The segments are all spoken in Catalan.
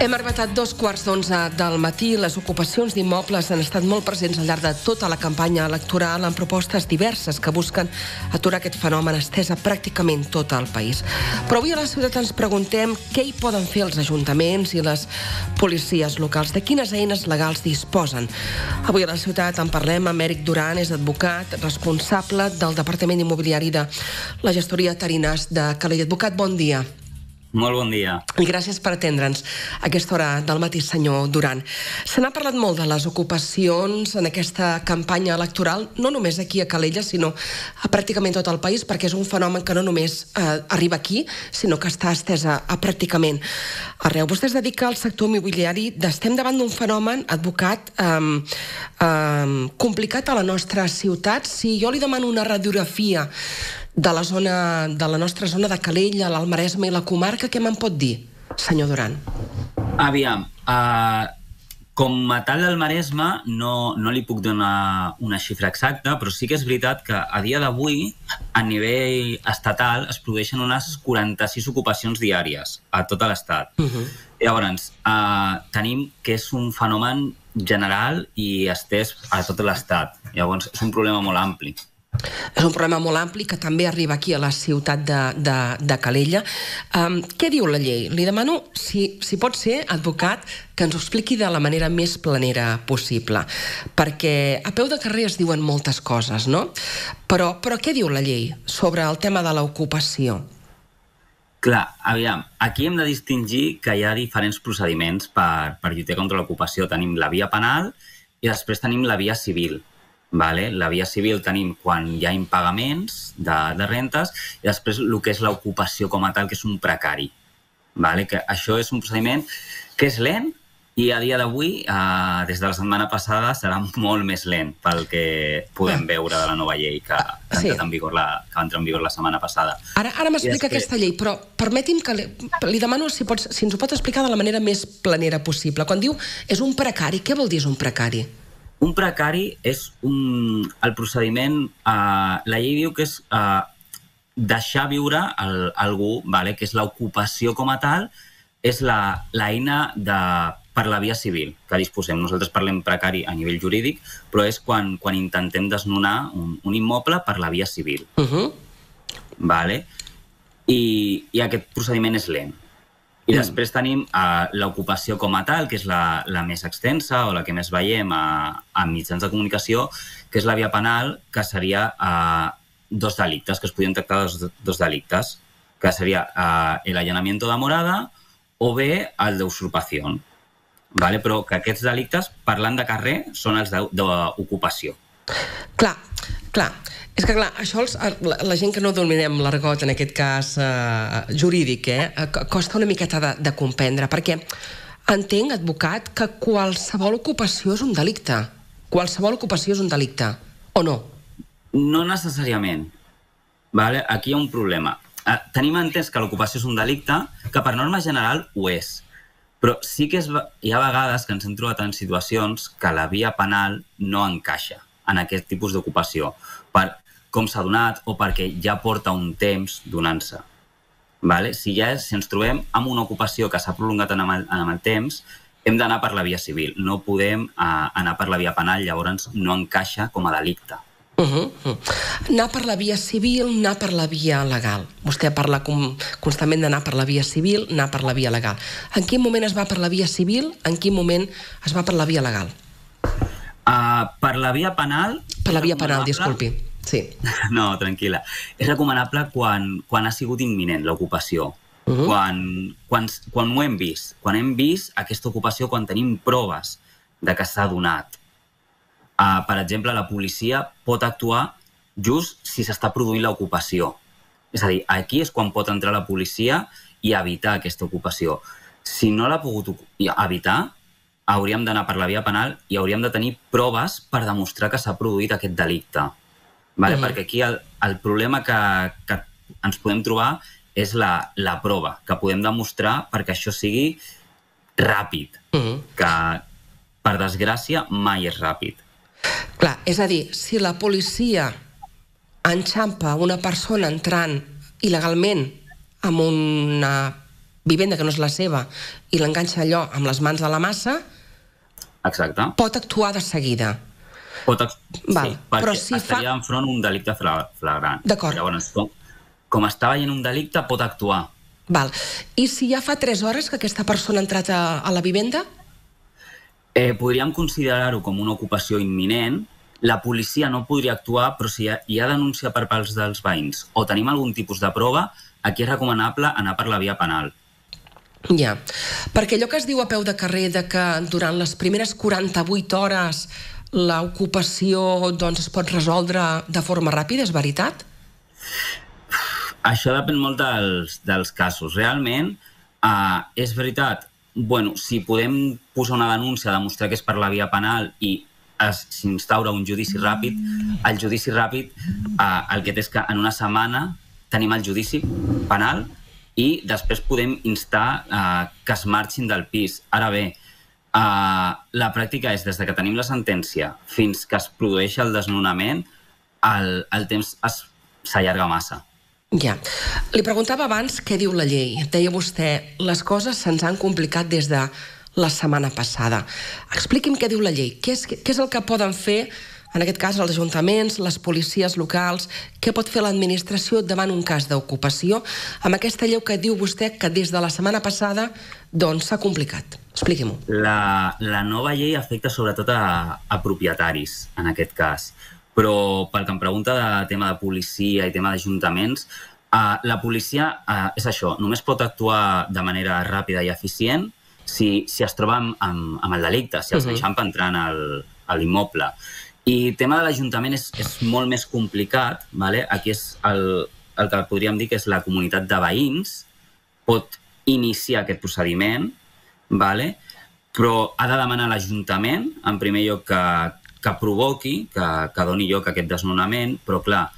Hem arribat a 2:15 del matí. Les ocupacions d'immobles han estat molt presents al llarg de tota la campanya electoral amb propostes diverses que busquen aturar aquest fenomen estès a pràcticament tot el país. Però avui a la ciutat ens preguntem què hi poden fer els ajuntaments i les policies locals, de quines eines legals disposen. Avui a la ciutat en parlem amb Èric Duran, és advocat, responsable del Departament Immobiliari de la Gestoria Tarinas de Calella. Advocat, bon dia. Molt bon dia. I gràcies per atendre'ns a aquesta hora del matí, senyor Duran. Se n'ha parlat molt de les ocupacions en aquesta campanya electoral, no només aquí a Calella, sinó a pràcticament tot el país, perquè és un fenomen que no només arriba aquí, sinó que està estès a pràcticament arreu. Vostè es dedica al sector immobiliari. Estem davant d'un fenomen, advocat, complicat a la nostra ciutat. Si jo li demano una radiografia de la nostra zona de Calella, l'Alt Maresme i la comarca, què me'n pot dir, senyor Duran? Aviam, com a tal del Maresme no li puc donar una xifra exacta, però sí que és veritat que a dia d'avui, a nivell estatal, es produeixen unes 46 ocupacions diàries a tot l'estat. Llavors, tenim que és un fenomen general i estès a tot l'estat. Llavors, és un problema molt ampli. És un problema molt ampli que també arriba aquí a la ciutat de Calella. Què diu la llei? Li demano, si pot ser, advocat, que ens ho expliqui de la manera més planera possible, perquè a peu de carrer es diuen moltes coses, no? Però què diu la llei sobre el tema de l'ocupació? Clar, aviam, aquí hem de distingir que hi ha diferents procediments per lluitar contra l'ocupació. Tenim la via penal i després tenim la via civil. La via civil tenim quan hi ha impagaments de rentes i després el que és l'ocupació com a tal, que és un precari. Que això és un procediment que és lent i a dia d'avui, des de la setmana passada, serà molt més lent pel que podem veure de la nova llei que va entrar en vigor la setmana passada. Ara m'explica aquesta llei, però permeti'm que li demano si ens ho pot explicar de la manera més planera possible. Quan diu és un precari, què vol dir és un precari? Un precari és el procediment... La llei diu que és deixar viure algú, que és l'ocupació com a tal, és l'eina per la via civil que disposem. Nosaltres parlem precari a nivell jurídic, però és quan intentem desnonar un immoble per la via civil. I aquest procediment és lent. I després tenim l'ocupació com a tal, que és la més extensa o la que més veiem a mitjans de comunicació, que és la via penal, que seria dos delictes, que es podien tractar dos delictes, que seria el allanamiento de morada o bé el d'usurpació. Però que aquests delictes, parlant de carrer, són els d'ocupació. Clar. És que, clar, això la gent que no dominem l'argot, en aquest cas jurídic, costa una miqueta de comprendre, perquè entenc, advocat, que qualsevol ocupació és un delicte. Qualsevol ocupació és un delicte, o no? No necessàriament. Aquí hi ha un problema. Tenim entès que l'ocupació és un delicte, que per norma general ho és. Però sí que hi ha vegades que ens hem trobat en situacions que la via penal no encaixa en aquest tipus d'ocupació, per com s'ha donat o perquè ja porta un temps donant-se. Si ens trobem amb una ocupació que s'ha prolongat en el temps, hem d'anar per la via civil. No podem anar per la via penal, llavors no encaixa com a delicte. Anar per la via civil, anar per la via legal. Vostè parla constantment d'anar per la via civil, anar per la via legal. En quin moment es va per la via civil? En quin moment es va per la via legal? Per la via penal... Per la via penal, disculpi. Sí. No, tranquil·la. És recomanable quan ha sigut imminent l'ocupació. Quan ho hem vist. Quan hem vist aquesta ocupació, quan tenim proves de que s'ha donat. Per exemple, la policia pot actuar just si s'està produint l'ocupació. És a dir, aquí és quan pot entrar la policia i evitar aquesta ocupació. Si no l'ha pogut evitar, hauríem d'anar per la via penal i hauríem de tenir proves per demostrar que s'ha produït aquest delicte. Perquè aquí el problema que ens podem trobar és la prova, que podem demostrar perquè això sigui ràpid, que per desgràcia mai és ràpid. Clar, és a dir, si la policia enxampa una persona entrant il·legalment amb una vivenda que no és la seva i l'enganxa allò amb les mans a la massa, exacte, pot actuar de seguida. Sí, perquè estaria enfront un delicte flagrant. D'acord. Llavors, com està veient un delicte, pot actuar. Val. I si ja fa 3 hores que aquesta persona ha entrat a la vivenda? Podríem considerar-ho com una ocupació imminent. La policia no podria actuar, però si hi ha denúncia per part dels veïns o tenim algun tipus de prova, aquí és recomanable anar per la via penal. Ja, perquè allò que es diu a peu de carrer de que durant les primeres 48 hores l'ocupació es pot resoldre de forma ràpida, és veritat? Això depèn molt dels casos. Realment, és veritat, si podem posar una denúncia, demostrar que és per la via penal i s'instaura un judici ràpid, el judici ràpid el que té és que en una setmana tenim el judici penal i després podem instar que es marxin del pis. Ara bé, la pràctica és des que tenim la sentència fins que es produeix el desnonament, el temps s'allarga massa. Ja. Li preguntava abans què diu la llei. Deia vostè, les coses se'ns han complicat des de la setmana passada. Expliqui'm què diu la llei. Què és el que poden fer, en aquest cas, els ajuntaments, les policies locals? Què pot fer l'administració davant un cas d'ocupació amb aquesta llei que diu vostè que des de la setmana passada s'ha complicat? Expliqui-m'ho. La nova llei afecta sobretot a propietaris, en aquest cas. Però pel que em pregunta de tema de policia i tema d'ajuntaments, la policia és això, només pot actuar de manera ràpida i eficient si es troba amb el delicte, si els enxampa entrant a l'immoble. I el tema de l'Ajuntament és molt més complicat. Aquí és el que podríem dir que és la comunitat de veïns, pot iniciar aquest procediment, però ha de demanar a l'Ajuntament, en primer lloc, que provoqui, que doni lloc a aquest desnonament, però clar,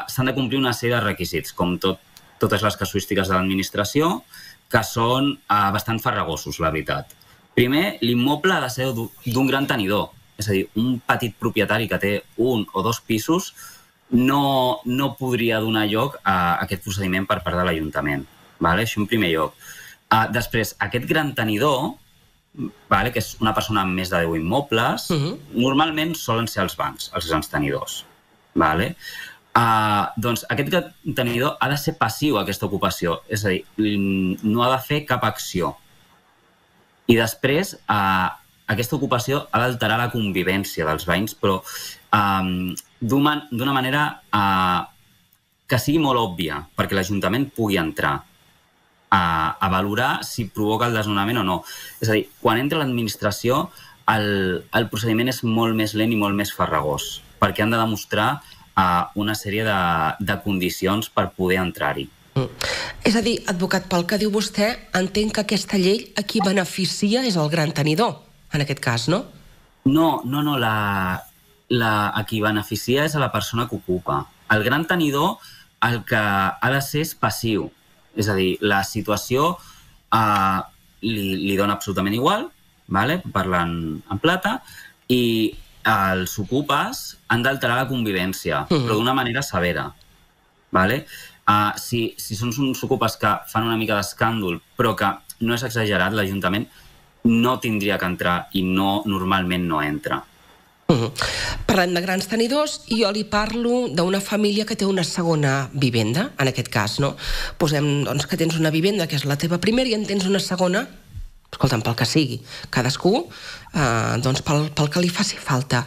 s'han de complir una sèrie de requisits, com totes les casuístiques de l'administració, que són bastant farragosos, la veritat. Primer, l'immoble ha de ser d'un gran tenidor, és a dir, un petit propietari que té 1 o 2 pisos no podria donar lloc a aquest procediment per part de l'Ajuntament. Això en primer lloc. Després, aquest gran tenidor, que és una persona amb més de 10 immobles, normalment solen ser els bancs, els grans tenidors. Doncs aquest gran tenidor ha de ser passiu a aquesta ocupació, és a dir, no ha de fer cap acció. I després, aquesta ocupació ha d'alterar la convivència dels veïns, però d'una manera que sigui molt òbvia, perquè l'Ajuntament pugui entrar a valorar si provoca el desnonament o no. És a dir, quan entra l'administració, el procediment és molt més lent i molt més farragós, perquè han de demostrar una sèrie de condicions per poder entrar-hi. És a dir, advocat, pel que diu vostè, entenc que aquesta llei a qui beneficia és el gran tenidor, en aquest cas, no? No, a qui beneficia és a la persona que ocupa. El gran tenidor el que ha de ser és passiu. És a dir, la situació li dona absolutament igual, parlant en plata, i els ocupes han d'alterar la convivència, però d'una manera severa. Si són uns ocupes que fan una mica d'escàndol, però que no és exagerat, l'Ajuntament no tindria que entrar i normalment no entra. Parlem de grans tenidors i jo li parlo d'una família que té una segona vivenda, en aquest cas, no? Posem que tens una vivenda que és la teva primera i en tens una segona, escolta'm, pel que sigui, cadascú, pel que li faci falta.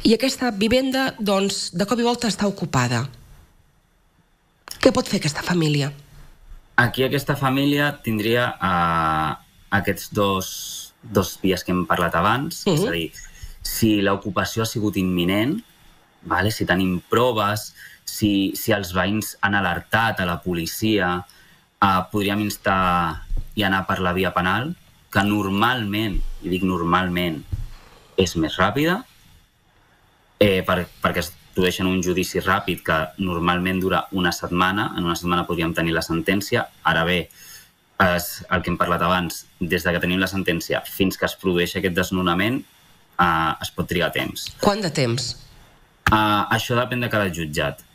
I aquesta vivenda, de cop i volta està ocupada. Què pot fer aquesta família? Aquí aquesta família tindria aquests dos vies que hem parlat abans, és a dir, si l'ocupació ha sigut imminent, si tenim proves, si els veïns han alertat a la policia, podríem instar i anar per la via penal, que normalment, i dic normalment, és més ràpida, perquè es produeix un judici ràpid que normalment dura una setmana. En una setmana podríem tenir la sentència. Ara bé, el que hem parlat abans, des que tenim la sentència fins que es produeix aquest desnonament, es pot trigar temps. Quant de temps? Això depèn de cada jutjat.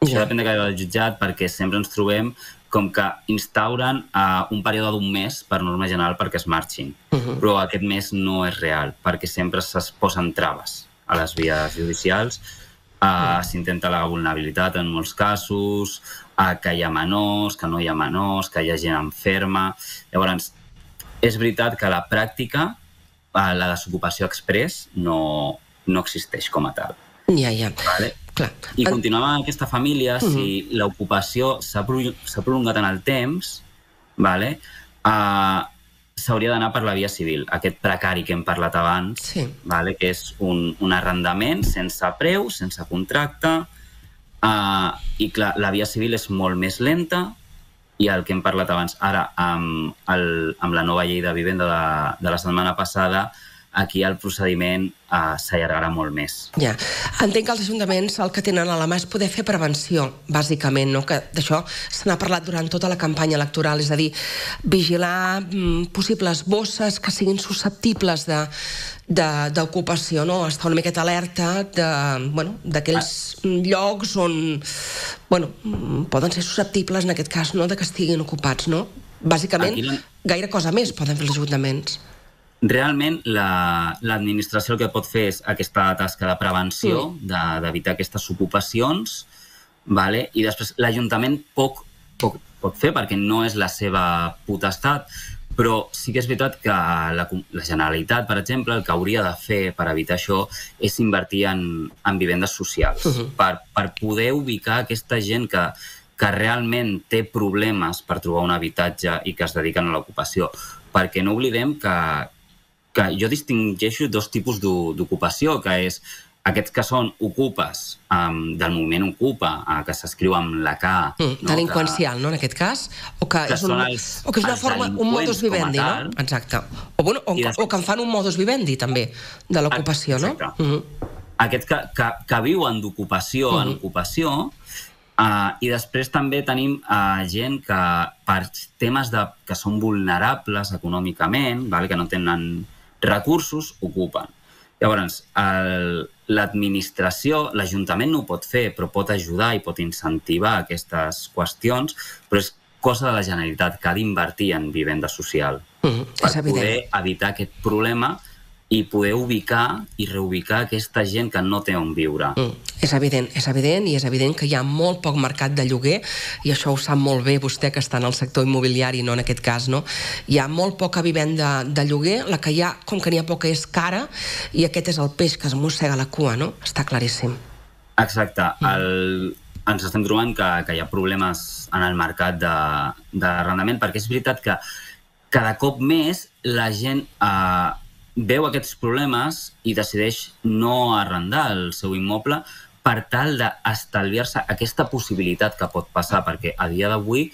Això depèn de cada jutjat perquè sempre ens trobem com que instauren un període d'un mes per norma general perquè es marxin. Però aquest mes no és real, perquè sempre es posen traves a les vies judicials, s'intenta la vulnerabilitat en molts casos, que hi ha menors, que no hi ha menors, que hi ha gent enferma. Llavors, és veritat que a la pràctica la desocupació express no existeix com a tal. Ja. Vale? Clar. I continuant amb aquesta família, si l'ocupació s'ha prolongat en el temps, vale? S'hauria d'anar per la via civil, aquest precari que hem parlat abans, vale? Que és un arrendament sense preu, sense contracte, i clar, la via civil és molt més lenta, i el que hem parlat abans, ara amb la nova llei de vivenda de la setmana passada, aquí el procediment s'allargarà molt més. Ja. Entenc que els ajuntaments el que tenen a la mà és poder fer prevenció, bàsicament, no? Que d'això se n'ha parlat durant tota la campanya electoral, és a dir, vigilar possibles bosses que siguin susceptibles d'ocupació, no? Estar una miqueta alerta d'aquells llocs on poden ser susceptibles, en aquest cas, de que estiguin ocupats, no? Bàsicament, gaire cosa més poden fer els ajuntaments. Realment, l'administració el que pot fer és aquesta tasca de prevenció, d'evitar aquestes ocupacions, i després l'Ajuntament poc pot fer perquè no és la seva potestat, però sí que és veritat que la Generalitat, per exemple, el que hauria de fer per evitar això és invertir en vivendes socials, per poder ubicar aquesta gent que realment té problemes per trobar un habitatge i que es dediquen a l'ocupació. Perquè no oblidem que jo distingeixo dos tipus d'ocupació, que és aquests que són ocupes del moviment Ocupa, que s'escriu amb la K. Delinqüencial, no, en aquest cas? O que és una forma, un modus vivendi, no? Exacte. O que en fan un modus vivendi, també, de l'ocupació, no? Aquests que viuen d'ocupació en ocupació, i després també tenim gent que per temes que són vulnerables econòmicament, que no tenen recursos, ocupen. Llavors, l'administració, l'Ajuntament no ho pot fer, però pot ajudar i pot incentivar aquestes qüestions, però és cosa de la Generalitat que ha d'invertir en vivenda social per poder evitar aquest problema i poder ubicar i reubicar aquesta gent que no té on viure. És evident, i és evident que hi ha molt poc mercat de lloguer, i això ho sap molt bé vostè, que està en el sector immobiliari, no en aquest cas, no? Hi ha molt poca vivenda de lloguer, la que hi ha, com que n'hi ha poca, és cara, i aquest és el peix que es mossega la cua, no? Està claríssim. Exacte. Ens estem trobant que hi ha problemes en el mercat d'arrendament, perquè és veritat que cada cop més la gent veu aquests problemes i decideix no arrendar el seu immoble per tal d'estalviar-se aquesta possibilitat que pot passar, perquè a dia d'avui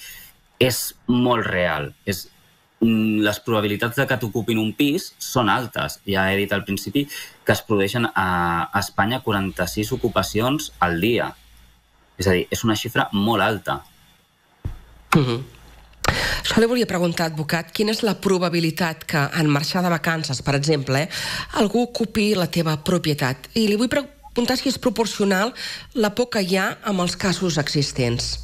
és molt real. Les probabilitats de que t'ocupin un pis són altes. Ja he dit al principi que es produeixen a Espanya 46 ocupacions al dia. És a dir, és una xifra molt alta. Això li volia preguntar, advocat, quina és la probabilitat que en marxar de vacances, per exemple, algú ocupi la teva propietat? I li vull preguntar si és proporcional la por que hi ha amb els casos existents.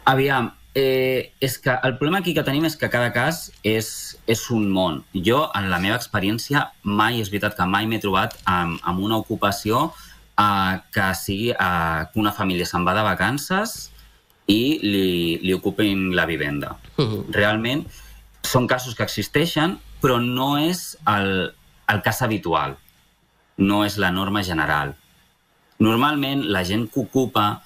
Aviam, és que el problema aquí que tenim és que cada cas és un món. Jo, en la meva experiència, és veritat que mai m'he trobat amb una ocupació que sigui que una família se'n va de vacances i li ocupin la vivenda. Realment són casos que existeixen, però no és el cas habitual, no és la norma general. Normalment la gent que ocupa,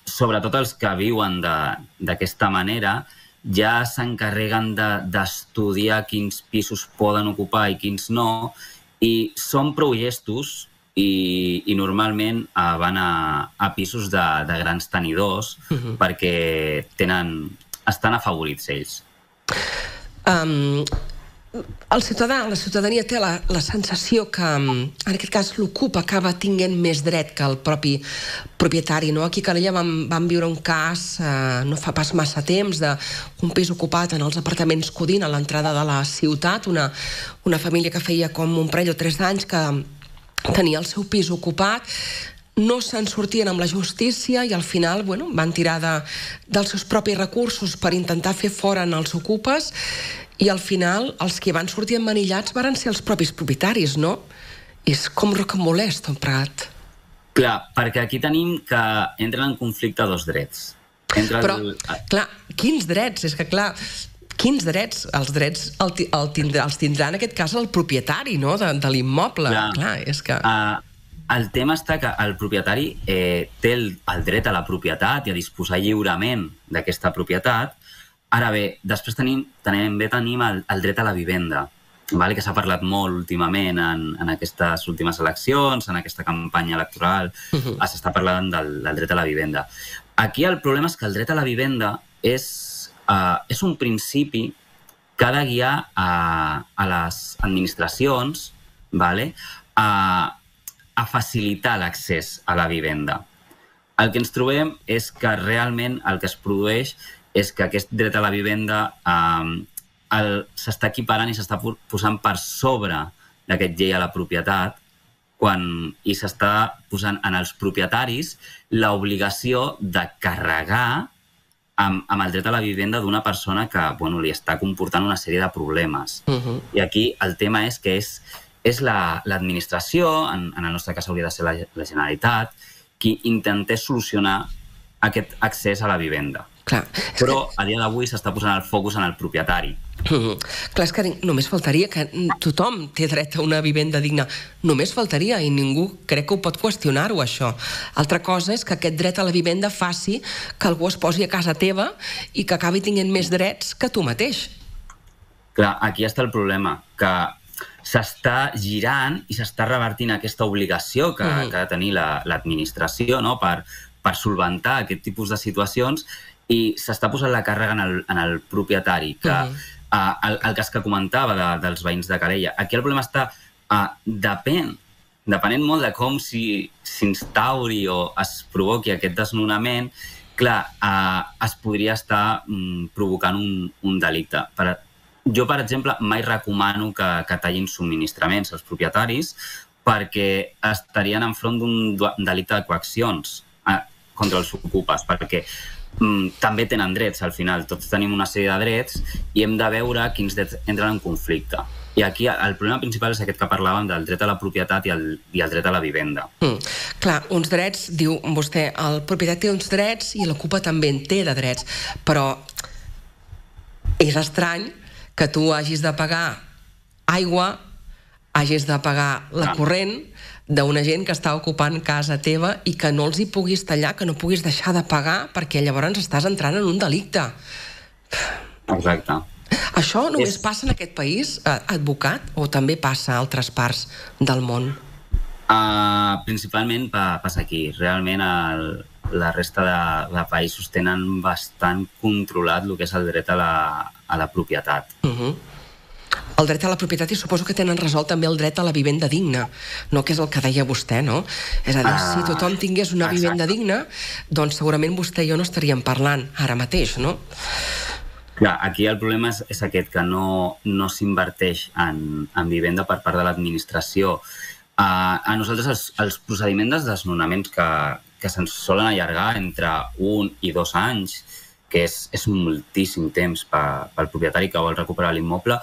sobretot els que viuen d'aquesta manera, ja s'encarreguen d'estudiar quins pisos poden ocupar i quins no, i són prou llestos i normalment van a pisos de grans tenidors perquè estan afavorits ells. La ciutadania té la sensació que, en aquest cas, l'ocupa acaba tinguent més dret que el propi propietari. Aquí a Calella vam viure un cas no fa pas massa temps d'un pis ocupat en els apartaments Codina, a l'entrada de la ciutat, una família que feia com un parell o 3 anys que tenia el seu pis ocupat. no se'n sortien amb la justícia i al final van tirar dels seus propis recursos per intentar fer fora els ocupes i al final els que van sortir emmanillats van ser els propis propietaris, no? I és com rocambolès, tot plegat. Clar, perquè aquí tenim que entren en conflicte dos drets. Però, clar, quins drets? És que, clar, quins drets? Els drets els tindrà en aquest cas el propietari, no?, de l'immoble. Clar, és que... El tema està que el propietari té el dret a la propietat i a disposar lliurement d'aquesta propietat. Ara bé, després tenim el dret a la vivenda, que s'ha parlat molt últimament en aquestes últimes eleccions, en aquesta campanya electoral, s'està parlant del dret a la vivenda. Aquí el problema és que el dret a la vivenda és un principi que ha de guiar a les administracions a facilitar l'accés a la vivenda. El que ens trobem és que realment el que es produeix és que aquest dret a la vivenda s'està equiparant i s'està posant per sobre d'aquest llei a la propietat i s'està posant en els propietaris l'obligació de carregar amb el dret a la vivenda d'una persona que li està comportant una sèrie de problemes. I aquí el tema és que és l'administració, en el nostre cas hauria de ser la Generalitat, qui intentés solucionar aquest accés a la vivenda. Però a dia d'avui s'està posant el focus en el propietari. Clar, és que només faltaria que tothom té dret a una vivenda digna. Només faltaria, i ningú crec que ho pot qüestionar-ho, això. Altra cosa és que aquest dret a la vivenda faci que algú es posi a casa teva i que acabi tenint més drets que tu mateix. Clar, aquí està el problema, que s'està girant i s'està revertint aquesta obligació que ha de tenir l'administració per solventar aquest tipus de situacions i s'està posant la càrrega en el propietari, que el cas que comentava dels veïns de Calella. Aquí el problema està, depenent molt de com s'instauri o es provoqui aquest desnonament, clar, es podria estar provocant un delicte. Jo, per exemple, mai recomano que tallin subministraments als propietaris perquè estarien enfront d'un delicte de coaccions contra els ocupes, perquè també tenen drets, al final. Tots tenim una sèrie de drets i hem de veure quins drets entren en conflicte. I aquí el problema principal és aquest que parlàvem del dret a la propietat i el dret a la vivenda. Clar, uns drets, diu vostè, el propietari té uns drets i l'ocupa també en té de drets, però és estrany que tu hagis de pagar aigua, hagis de pagar la corrent d'una gent que està ocupant casa teva i que no els hi puguis tallar, que no puguis deixar de pagar perquè llavors estàs entrant en un delicte. Exacte. Això només passa en aquest país, advocat, o també passa a altres parts del món? Principalment passa aquí. Realment la resta de països tenen bastant controlat el que és el dret a la propietat. El dret a la propietat i suposo que tenen resolt també el dret a la vivenda digna, no? Que és el que deia vostè, no? És a dir, si tothom tingués una vivenda digna, doncs segurament vostè i jo no estaríem parlant ara mateix, no? Clar, aquí el problema és aquest, que no s'inverteix en vivenda per part de l'administració. A nosaltres els procediments de desnonaments que se'ns solen allargar entre 1 i 2 anys, que és moltíssim temps pel propietari que vol recuperar l'immoble,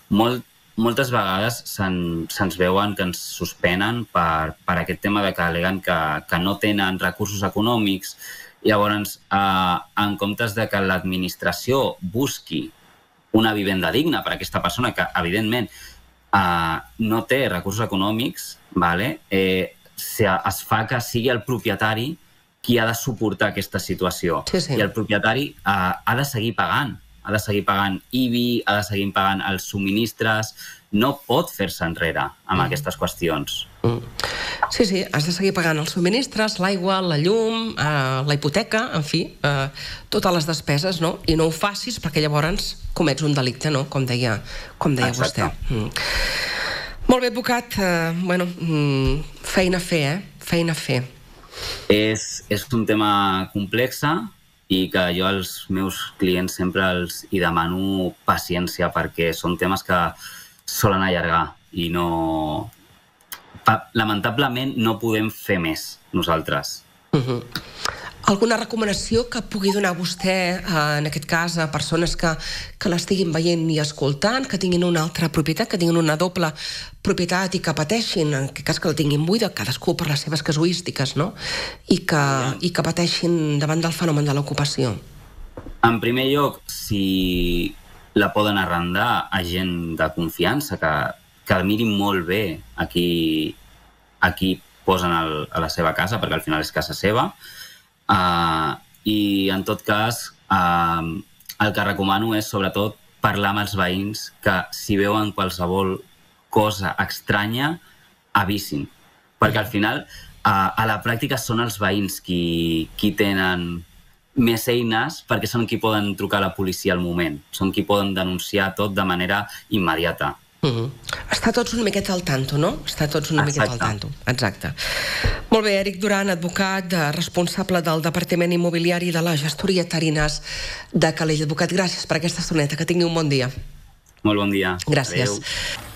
moltes vegades se'ns veuen que ens suspenen per aquest tema de que al·leguen que no tenen recursos econòmics. Llavors, en comptes de que l'administració busqui una vivenda digna per a aquesta persona que, evidentment, no té recursos econòmics, es fa que sigui el propietari qui ha de suportar aquesta situació. I el propietari ha de seguir pagant. Ha de seguir pagant IBI, ha de seguir pagant els subministres, no pot fer-se enrere amb aquestes qüestions. Sí, has de seguir pagant els subministres, l'aigua, la llum, la hipoteca, en fi, totes les despeses, no? I no ho facis perquè llavors comets un delicte, no? Com deia vostè. Molt bé, advocat. Feina a fer, Feina a fer. És un tema complex i que jo als meus clients sempre els demano paciència perquè són temes que solen allargar i no... lamentablement no podem fer més nosaltres. Alguna recomanació que pugui donar vostè, en aquest cas, a persones que l'estiguin veient i escoltant, que tinguin una altra propietat, que tinguin una doble propietat i que pateixin, en aquest cas que la tinguin buida, cadascú per les seves casuístiques, no? I que pateixin davant del fenomen de l'ocupació? En primer lloc, si la poden arrendar a gent de confiança, que mirin molt bé a qui posen a la seva casa, perquè al final és casa seva. I en tot cas el que recomano és sobretot parlar amb els veïns, que si veuen qualsevol cosa estranya avisin, perquè al final a la pràctica són els veïns qui tenen més eines, perquè són qui poden trucar a la policia al moment, són qui poden denunciar tot de manera immediata. Està tots una miqueta al tanto, no? Està tots una miqueta al tanto. Exacte. Molt bé, Eric Duran, advocat, responsable del Departament Immobiliari de la Gestoria Tarinas de Calella. Advocat, gràcies per aquesta estoneta. Que tingui un bon dia. Molt bon dia. Gràcies. Adéu.